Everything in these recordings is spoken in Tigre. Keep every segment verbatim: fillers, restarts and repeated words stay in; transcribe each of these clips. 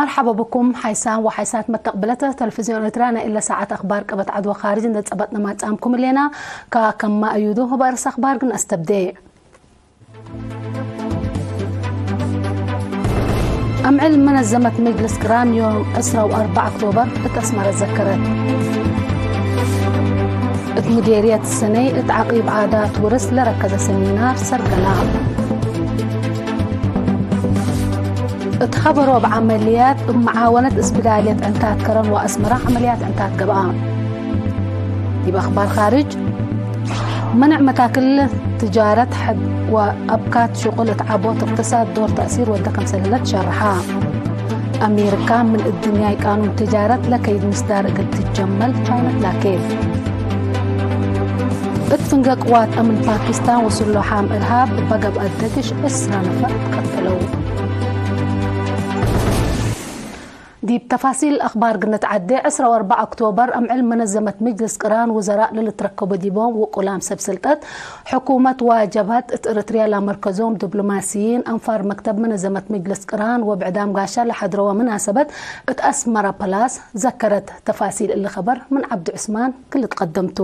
መርሐበ ብኩም ሓይሳም ወሓይሳት መተቅብለት ተለፍዝዮን ኤርትርያ፣ ናይ እለ ሳዐት አክባር ቅበት ዐድ ወካርጅ እንዴ ጸበጥነ ማጽአምኩም ህሌና። ከከመ አዩዱ እብ አርእስ አክባር ግን አስተብዴ። አምዕል መነዘመት መጅልስ ቅራን ዮም ዕስራ ወአርበዕ ኦክቶበር እት አስመረ ዘከረት። እት ሙዴርየት ሰነይ እት ዐቂብ ዓዳት ውርስ ለረከዘ ሰሚናር ሰርገላ። እት ሀበሮ እብ ዐመልያት እብ መዓወነት እስብዳልየት ዕንታት ከረን ወአስመረ ዐመልያት ዕንታት ገብአ። ዲብ አክባር ካርጅ፣ መንዕ መታክል ትጃረት ሐድ ወአብካት ሽቁል እት ዐቦት እቅትሳድ ዶር ተእሲር ወደ ከምሰል ህለ ትሸርሐ። አሜሪካ ምን እድንያይ ቃኑን ትጃረት ለከይድ ምስዳር እግል ትጀመል ቻይና ትላኬት። እት ፍንገ ቅዋት አምን ፓኪስታን ወስሎሓም እርሃብ እበ ገብአት ደግሽ ዕስራ ነፈር ትቀተለው። ዲብ ተፋሲል አክባር ግንትዐዴ፣ ዕስራ ወአርበዕ ኦክቶበር አምዕል መነዘመት ምጅልስ ቅራን ውዘራእ ለልትረከቡ ዲቦም ውቁላም ሰብ ስልጠት ሕኩመት ወጀብሀት እት ኤረትርያ ለአመርከዞም ዲፕሎማሲይን አንፋር መክተብ መነዘመት ምጅልስ ቅራን ወብዕዳም ጋሻ ለሐድረወ መናሰበት እት አስመረ ፐላስ ዘከረት። ተፋሲል እሊ ከበር ምን ዐብዱ ዑስማን ክል ትቀደምቱ።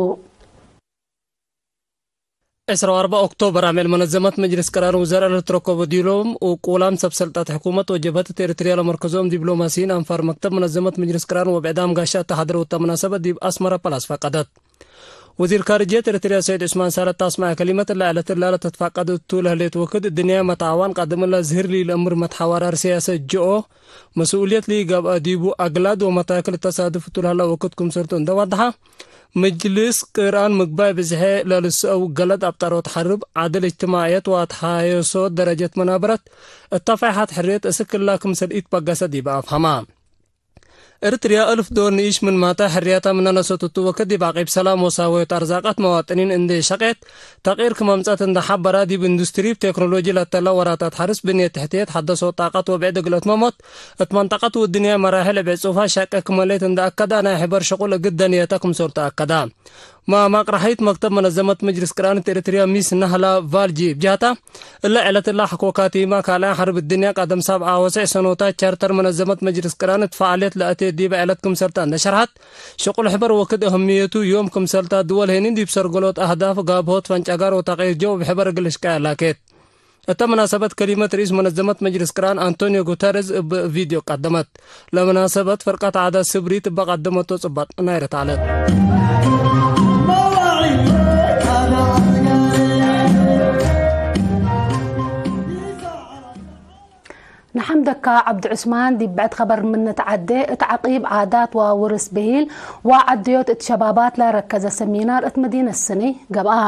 ዕስራ ወአርበዕ ኦክቶበር አምዕል መነዘመት መጅልስ ቅራን ውዘራእ ለልትረከቡ ዲሎም ውቁላም ሰብ ሰልጠት ሕኩመት ወጀብሀት እት ኤረትርያ ለመርከዞም ዲፕሎማሲይን አንፋር መክተብ መነዘመት መጅልስ ቅራን ወብዕዳም ጋሻ እተ ሐድረው እተ መናሰበት ዲብ አስመረ ፐላስ ፈቀደት። ወዚር ካርጅየት ኤረትርያ ሰዒድ ዑስማን ሳልሕ ተአስመዐ ከሊመት፣ እለ ዕለት እላ ለተትፋቀድ እቱ ለህሌት ወክድ፣ እድንያይ መትዓዋን ቃድም እለ ዝህር ሊለአምር መትሐዋራር ስያሰት ጅኦ መስኡልየት ሊገብአ ዲቡ አግላድ ወመታክል ተሳድፍ እቱ ለህላ ወክድ ክምሰልቱ እንዴ ወደሐ፣ ምጅልስ ቅራን ምግባይ ብዝሐ ለልስአው ገለድ አብጠሮት ሐርብ፣ ዐድል እጅትማዕየት ወአትሓየሶ ደረጀት መናበረት፣ እተፋይሐት ሕርየት እስክ እላ ክምሰል ኢትበገሰ ዲብ አፍሀማ። ኤረትርያ እልፍ ዶል ንኢሽ ምን ማተ ሕርያታ ምነ ነሰት እቱ ወክድ ዲብ ዐቂብ ሰላም ወሳወዮት አርዛቀት መዋጥኒን እንዴ ሸቄት፣ ተቅይር ክም አምጸት እንዴ ሐበራ፣ ዲብ ኢንዱስትሪ፣ ቴክኖሎጂ ለተለ ወራታት ሐርስ፣ ብንየት ተሕትየት፣ ሐደሶት ጣቀት ወብዕድ እግል አትመሞት፣ እት መንጠቀት ወድንያይ መራሕል እብ ዕጹፋ ሸቄ ክም ሌት እንዴ አከዳ፣ ናይ ሕበር ሽቁል እግል ደንየተ ክምሰልቱ አከዳ። ማማቅ ረሐይት መክተብ መነዘመት መጅልስ ቅራን እት ኤረትርያ ሚስ ናህላ ቫልጂ እብ ጀህታ፣ እለ ዕለት እላ ሐቆ ካቲማ ካልኣይ ሐርብ እድንያ ቀደም ሳብዓ ወሰዕ ሰኖታት ቻርተር መነዘመት መጅልስ ቅራን እት ፈዓልየት ለአቴት ዲበ ዕለት ክምሰልታ እንዴ ሸርሐት፣ ሽቁል ሕበር ወክድ እህምየቱ ዮም ክምሰልታ ድወል ሄኒን ዲብ ሰርገሎት አህዳፍ ጋብሆት ፈንጨጋር ወተቅይር ጀው እብ ሕበር እግል እሽቀያ ላኬት። እተ መናሰበት ከሊመት ርኢስ መነዘመት መጅልስ ቅራን አንቶኒዮ ጉተረዝ እብ ቪድዮ ቀደመት። ለመናሰበት ፈርቀት ዓዳት ስብሪት እበ ቀደመቶ ጽባጥ ናይረት ዐለት። ነሐምደካ ዐብዱ ዑስማን። ዲብ ብዕድ ከበር ምን ንትዐዴ፣ እት ዐቂብ ዓዳት ወውርስ ብሂል ወዐደዮት እት ሸባባት ለረከዘ ሰሚናር እት መዲነት ሰኔ ገብአ።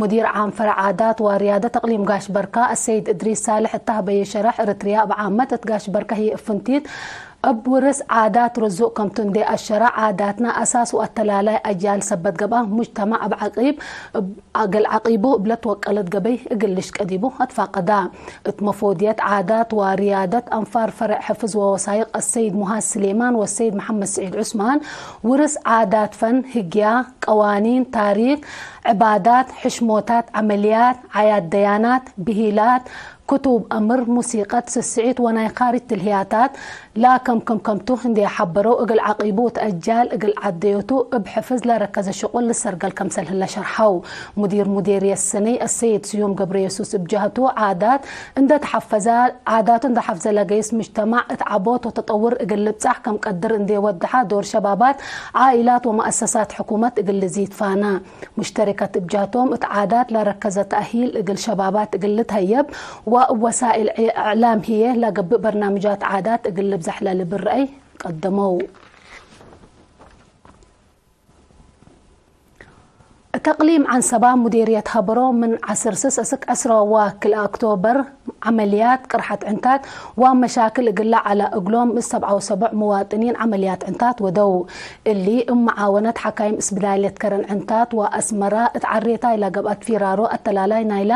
ሙዲር ዓም ፈረዕ ዓዳት ወርያደት እቅሊም ጋሽ በርካ አሰይድ እድሪስ ሳልሕ እተ ሀበየ ሸረሕ፣ ኤረትርያ እብ ዓመት እት ጋሽ በርካ ህዬ እብ ፍንቲት እብ ውርስ ዓዳት ርዙቅ ከምቱ እንዴ አሸረ፣ ዓዳትነ አሳስ ወአተላላይ አጅያል ሰበት ገብአ፣ ሙጅተማዕ እብ ዐቂብ እብ እግል ዐቂቡ እብ ለትወቀለት ገበይ እግል ልሽቀ ዲቡ አትፋቀዳ። እት መፎድየት ዓዳት ወርያደት አንፋር ፈረዕ ሕፍዝ ወወሳይቅ አሰይድ ሙሃዝ ስሌማን ወሰይድ መሐመድ ስዒድ ዑስማን፣ ውርስ ዓዳት ፈን፣ ህግያ፣ ቀዋኒን፣ ታሪክ፣ ዕባዳት፣ ሕሽሞታት፣ ዐመልያት፣ ዓያት ደያናት፣ ብሂላት፣ ክቱብ አምር፣ ሙሲቀት፣ ስስዒት ወናይ ካርጅ ትልህያታት፣ ላከም ክም ከምቱ እንዴ ሐበረው፣ እግል ዐቂቡ እት አጃል እግል ዐደዮቱ እብ ሕፍዝ ለረከዘ ሽቁል ልሰርገል ከምሰል ህለ ሸርሐው። ሙዲር ሙዴርየት ሰነይ አሰይድ ስዩም ገብረየሱስ እብ ጀህቱ፣ ዓዳት እንዴ ተሐፈዘ፣ ዓዳቱ እንዴ ሐፍዘ ለገይስ ሙጅተማዕ እት ዐቦት ወተጠውር እግል ልብጻሕ ከም ቀድር እንዴ ወደሐ፣ ዶር ሸባባት፣ ዓኢላት ወመአሰሳት ሕኩመት እግል ልዚድ ፋነ። ሙሽተሪከት እብ ጀህቶም፣ እት ዓዳት ለረከዘ ተእሂል እግል ሸባባት እግል ልትሀየብ ወእብ ወሳእል እዕላም ህዬ ለገብእ በርናምጃት ዓዳት እግል ልብዘሕ ለልብል ረአይ ቀደመው። እት እቅሊም ዐንሰባ ሙዴርየት ሀበሮ ምን ዐስር ስስ እስክ ዐስረ ወክልኤ ኦክቶበር ዐመልያት ቅርሐት ዕንታት ወመሻክል እግል ለዐለ እግሎም እት ሰብዓ ወሰቡዕ መዋጥኒን ዐመልያት ዕንታት ወደው። እሊ እብ መዓወነት ሐካይም እስብዳልየት ከረን ዕንታት ወአስመረ እት ዐሬታይ ለገብአት ፊራሮ አተላላይ ናይላ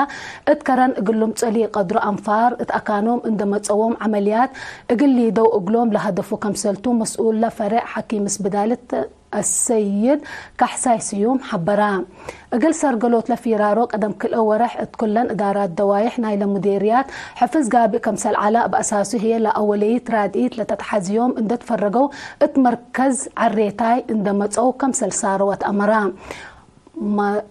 እት ከረን እግል ልምጸእ ለኢቀድሮ አንፋር እት አካኖም እንዴ መጸዎም ዐመልያት እግል ሊደው እግሎም ለሀደፉ ከምሰልቱ መስኡለ ፈሬዕ ሐኪም እስብዳልየት አሰይድ ካሕሳይ ስዩም ሐበራ። እግል ሰርገሎት ለፊራሮ ቀደም ክልኤ ወረሕ እት ኩለን እዳራት ደዋይሕ ናይለ ሙዴርያት ሕፍዝ ጋብእ ከምሰል ዐለ፣ እብ አሳሱ ህዬ ለአወለይት ራድኢት ለተትሐዝዮም እንዴ ትፈረገው እት መርከዝ ዐሬታይ እንዴ መጽአው ከምሰል ሳረወት አመራ። መ-፣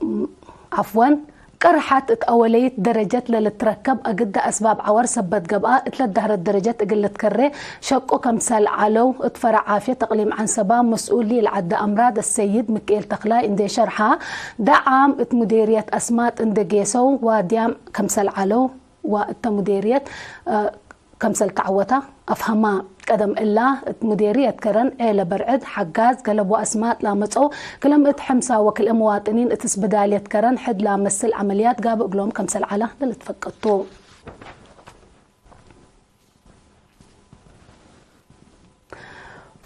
ዐፍወን፣ ቅርሐት እት አወለይት ደረጀት ለልትረከብ አግደ አስባብ ዐወር ሰበት ገብአ፣ እት ለዳህረት ደረጀት እግል ልትከሬ ሸቁ ከምሰል ዐለው፣ እት ፈረዕ ዓፍየት እቅሊም ዐንሰባ መስኡል ሊልዓደ አምራድ አሰይድ ምክኤል ተክላይ እንዴ ሸርሐ፣ ደዓም እት ሙዴርየት አስማጥ እንዴ ጌሰው ዋድያም ከምሰል ዐለው ወእተ ሙዴርየት፣ እ፣ ከምሰል ተዐወታ አፍሀማ። ቀደም እላ፣ እት ሙዴርየት ከረን ዔለ በርዕድ፣ ሐጋዝ፣ ገለብ ወአስማጥ ላመጽኦ ክለ ምእት ሕምሳ ወክልኤ መዋጥኒን እት ስብዳልየት ከረን ሕድ ላመስል ዐመልያት ጋብእ እግሎም ከምሰል ዐለ ለልትፈቀድ ቱ።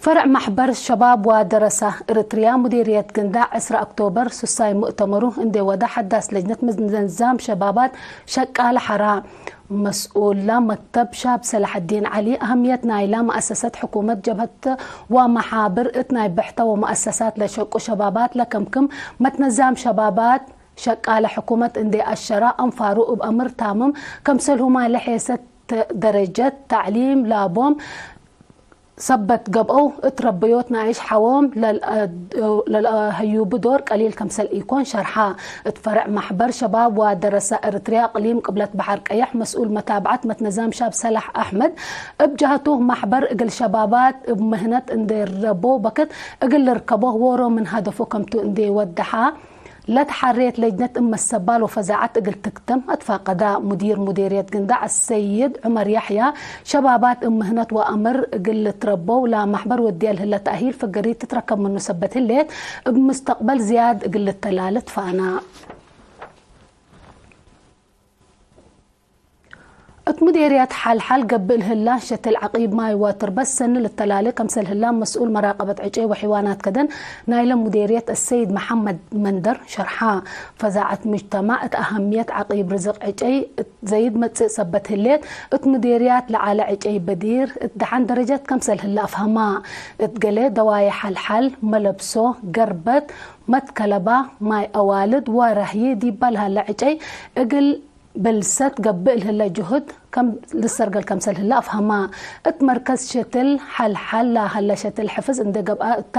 ፈርዕ ማሕበር ሸባብ ወደረሳ እርትርያ ሙዲርየት ግንዳዕ ዕስራ ኦክቶበር ሱሳይ ሙእተመሩ እንዴ ወደ ሐዳስ ለጅነት ምንዛም ሸባባት ሸቃለ ሐራ መስኡላ መክተብ ሻብ ሰላሐዲን ዐሊ፣ አህምየት ናይላ መአሰሰት ሕኩመት ጀብሀት ወመሓብር እት ናይ ብሕተ ወመአሰሳት ለሸቁ ሸባባት ለከምክም መትነዛም ሸባባት ሸቃለ ሕኩመት እንዴ አሸራ፣ አንፋሩ እብ አምር ታምም ከምሰልሁማ ለሔሰት ደረጀት ተዕሊም ላቦም ሰበት ገብአው እት ረበዮት ናይሽ ሐዎም ለልአ-፣ ለልአሀዩቡ ዶር ቀሊል ከምሰል ኢኮን ሸርሐ። እት ፈርዕ ማሕበር ሸባብ ወደረሳ እርትርያ እቅሊም ቅብለት በሐር ቀየሕ መስኡል መታብዐት መትነዛም ሻብ ሰላሕ አሕመድ እብ ጀሀቱ፣ ማሕበር እግል ሸባባት እብ ምህነት እንዴ ረቦ በክት እግል ልርከቦ ዎሮ ምን ሀደፉ ከምቱ እንዴ ወደሐ፣ ለተሐሬት ለጅነት እመ ሰባል ወፈዛዐት እግል ትክተም አትፋቀዳ። ሙዲር ሙዴርየት ግንዳዕ አሰይድ ዑመር ያሕያ፣ ሸባባት እብ ምህነት ወአምር እግል ልትረበው ለማሕበር ወድየ ለህለ ተእሂል ፍገሪት ትትረከብ ምኑ ሰበት ህሌት፣ እብ ሙስተቅበል ዝያድ እግል ልተላለ ትፋና። እት ሙዴርየት ሐልሐል ገብእ ለህላ ሸትል ዐቂብ ማይ ወትርበት ሰኒ ልተላሌ ከምሰል ህላ መስኡል መራቀበት ዕጨይ ወሕይዋናት ከደን ናይለ ሙዴርየት አሰይድ መሐመድ መንደር ሸርሐ። ፈዛዐት ሙጅተማዕ እት አሀምየት ዐቂብ ርዝቅ ዕጨይ እት ዘይድ መጽእ ሰበት ህሌት፣ እት ሙዴርያት ለዐለ ዕጨይ በዲር እት ደሐን ደረጀት ከምሰል ህላ አፍሀማ። እት ገሌ ደዋዬሕ ሐልሐል መለብሶ፣ ገርበት፣ መትከለባ፣ ማይ አዋልድ ወራህዪ ዲባ ለሀለ ዕጨይ እግል ብልሰት ገብእ ለህለ ጅሁድ ከም ልሰርገል ከምሰል ህለ አፍሀማ። እት መርከዝ ሸትል ሐልሐል ለሀለ ሸትል ሕፍዝ እንዴ ገብአ እታ፣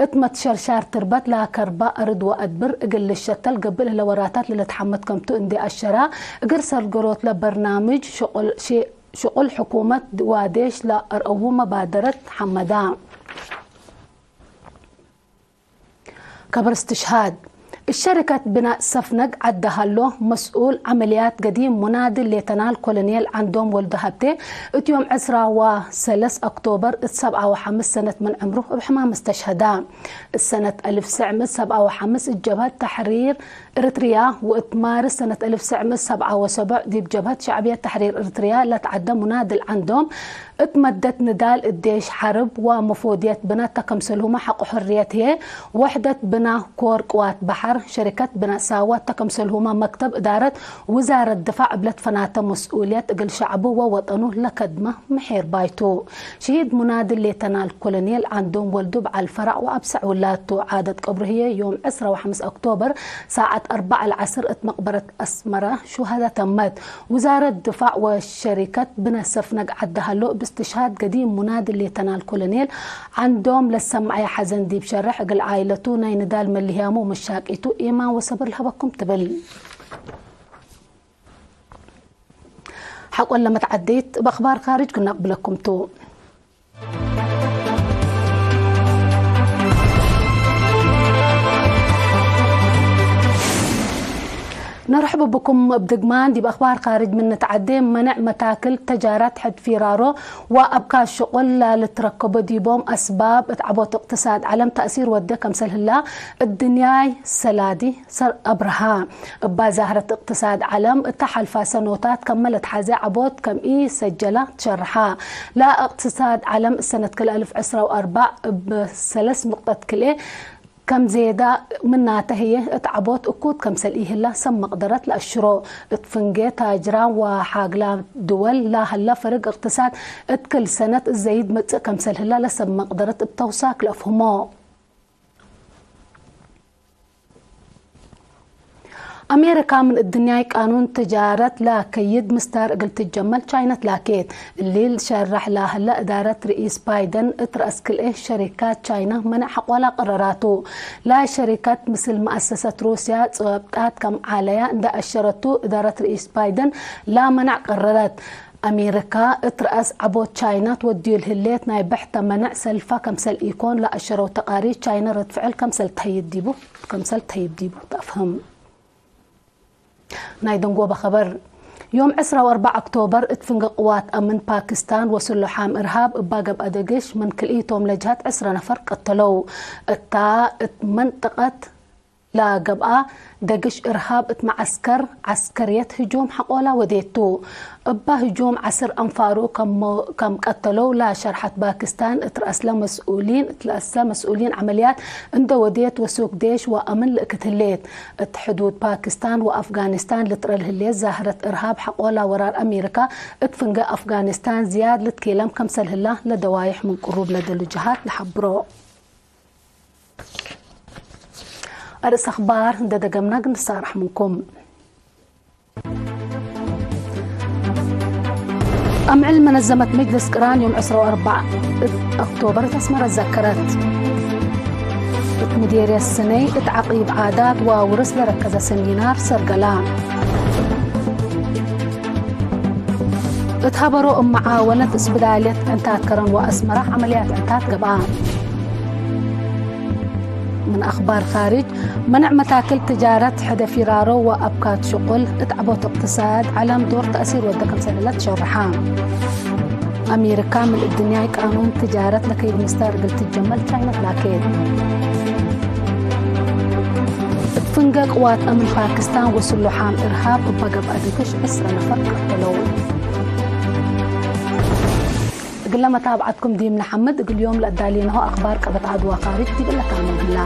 እት መትሸርሻር ትርበት ለከርባ አርድ ወአድብር እግል ልሸተል ገብእ ለህለ ወራታት ለልትሐመድ ከምቱ እንዴ አሸራ፣ እግል ሰርገሎት ለበርናምጅ ሽቁል፣ ሺ-፣ ሽቁል ሕኩመት ዋዴሽ ለአርአዉ መባደረት ሐመዳ። ከብር እስትሽሃድ። እሸሪከት ብናእ ሰፍነግ ዐድ ሀሎ መስኡል ዐመልያት ገዲም ሙናድል ሌተናል ኮሎኔል ዐንዶም ወልዱ ሀብቴ፣ እት ዮም ዕስራ ወሰለስ ኦክቶበር እት ሰብዓ ወሐምስ ሰነት ምን ዕምሩ እብ ሕማም እስተሽሀዳ። እት ሰነት አልፍ ትሰዕ ምእት ሰብዓ ወሐምስ እት ጀብሀት ተሕሪር እርትርያ ወእት ማርስ ሰነት አልፍ ትሰዕ ምእት ሰብዓ ወሰቡዕ ዲብ ጀብሀት ሸዕብየት ተሕሪር እርትርያ ለትዐደ ሙናድል ዐንዶም፣ እት መደት ንዳል እዴሽ ሐርብ ወመፎድየት ብናተ ከምሰልሁመ ሐቆ ሕርየት ህዬ፣ ወሕደት ብና ኮር ቅዋት በሐር፣ ሸሪከት ብና ሳዋ ተ ከምሰልሁመ መክተብ እዳረት ውዛረት ድፋዕ እብ ለትፈናተ መስኡልየት እግል ሸዕቡ ወወጠኑ ለከድመ ምሒር ባይቱ። ሽሂድ ሙናድል ሌተናል ኮሎኔል ዐንዶም ወልዱ በዐል ፈራዕ ወአብሰዕ ውላቱ። ዓደት ቀብሩ ህዬ ዮም ዕስራ ወሐምስ ኦክቶበር ሳዐት አርበዕ ለዐስር እት መቅበረት አስመረ ሹሀዳ ተመት። ውዛረት ድፋዕ ወሸሪከት ብነ ሰፍነግ ዐድ ሀሎ፣ እብ እስትሽሃድ ገዲም ሙናድል ሌተናል ኮሎኔል ዐንዶም ለሰመዐየ ሐዘን ዲብ ሸርሕ፣ እግል ዓኢለቱ ናይ ንዳል መልህያሙ ወመሻቂቱ ኤማን ወሰብር ለሀበኩም ትብል። ሐቆለ መትዐዲት እብ አክባር ካርጅ ክነቅብለኩም ቱ። ነርሕቡ ብኩም። እብ ድግማን ዲብ አክባር ካርጅ ምን ንትዐዴ፣ መነዕ መታክል ተጃራት ሕድ ፊራሮ ወአብካት ሽቁል ለልትረከቦ ዲቦም አስባብ እት ዐቦት እቅትሳድ ዐለም ተእሲር ወዴ ከምሰል ህላ እድንያይ ሰላዲ ሰር አብርሃ። እባ ዛህረት እቅትሳድ ዐለም እተ ሐልፋ ሰኖታት ከመ ለትሐዜ ዐቦት ከም ኢሰጀላ ትሸርሐ። ለእቅትሳድ ዐለም እሰነት ክልኤ አልፍ ዕስራ ወአርበዕ እብ ሰለስ ንቅጠት ክልኤ ከም ዜዳ ምናተ ህዬ እት ዐቦት እኩት ከምሰል ኢህላ ሰብ መቅደረት ለአሽሮ። እት ፍንጌ ታጅራን ወሓግላ ድወል ለሀላ ፈርግ እቅትሳድ እት ክል ሰነት እት ዘይድ መጽእ ከምሰል ህላ ለሰብ መቅደረት እብ ተውሳክ ለአፍህሞ። አሜሪካ ምን እድንያይ ቃኑን ትጃረት ለከይድ ምስዳር እግል ትጀመል ቻይነት ላኬት። እሊ ልሸረሕ ለሀለ እዳረት ርኢስ ባይደን እት ረአስ ክልኤ ሸሪካት ቻይና መነዕ ሐቆላ ቀረራቱ። ላ ሸሪካት ምስል መአሰሰት ሩስያ ጸብጣት ከም ዓለያ እንደ አሸረቱ እዳረት ርኢስ ባይደን ላመነዕ ቀረረት። አሜሪካ እት ረአስ ዐቦት ቻይና ትወድዩ ለህሌት ናይ ብሕተ መነዕ ሰልፋ ከምሰል ኢኮን ለአሸረው ተቃሪር ቻይና ረድ ፍዕል ከምሰል ተህይብ ዲቡ፣ ከምሰል ተህይብ ዲቡ ተአፍህም። ናይ ደንጎበ ኸበር። ዮም ዕስራ ወአርበዕ ኦክቶበር እት ፍንጌ ቅዋት አምን ፓኪስታን ወስሉሓም እርሃብ እባ ገብአ ደግሽ ምን ክልኢቶም ለጀሀት ዕስረ ነፈር ቀተለው። እታ እት መንጠቀት ለገብአ ደግሽ እርሃብ እት መዐስከር ዐስከርየት ህጁም ሐቆላ ወዴቱ። እባ ህጁም ዐስር አንፋሩ ከም፣ ከም ቀተለው ለሸርሐት ፓኪስታን እት ረአስለ መስኡሊን፣ እት ረአስለ መስኡሊን ዐመልያት እንደ ወዴት ወሱክ ዴሽ ወአምን ልእክት ህሌት። እት ሕዱድ ፓኪስታን ወአፍጋኒስታን ልትረል ህሌት ዛህረት እርሃብ ሐቆላ ወራር አሜሪካ እት ፍንጌ አፍጋኒስታን ዝያድ ልትኬለም ከምሰል ህላ ለደዋይሕ ምን ቅሩብ ለደሉ ጀሃት ለሐብሮ። አርእስ አኽባር እንደ ደገምና እግል ንሳረሕ ምንኩም። አምዕል መነዘመት መጅልስ ቅራን ዮም ዕስራ ወአርበዕ እት ኦክቶበር እት አስመረ ዘከረት። እት ምዴርየት ስነይ እት ዐቂብ ዓዳት ወውርስ ለረከዘ ሰሚናር ሰርገላ። እት ሀበሮ እብ መዓወነት እስብዳልየት ዕንታት ከረን ወአስመረ ዐመልያት ዕንታት ገብአ። ምን አኽባር ካርጅ፣ መነዕ መታክል ትጃረት ሕደ ፊራሮ ወአብካት ሽቁል እት ዐቦት እቅትሳድ ዐለም ዶር ተእሲር ወደ ክምሰል ህለ ትሸርሐ። አሜሪካ ምን እድንያይ ቃኑን ትጃረት ለከይድ ምስዳር እግል ትጀመል ቻይነት ላኬት። እት ፍንጌ ቅዋት አምን ፓኪስታን ወስሉሓም እርሃብ እበ ገብአ ድግሽ ዕስረ ነፈር ቀተለው። እግለ መታብዐትኩም ዲብ ነሐምድ፣ እግል ዮም ለአዳሌናሁ አኽባር ቀበት ዐድ ወካርጅ ዲብለ ታምም ህላ።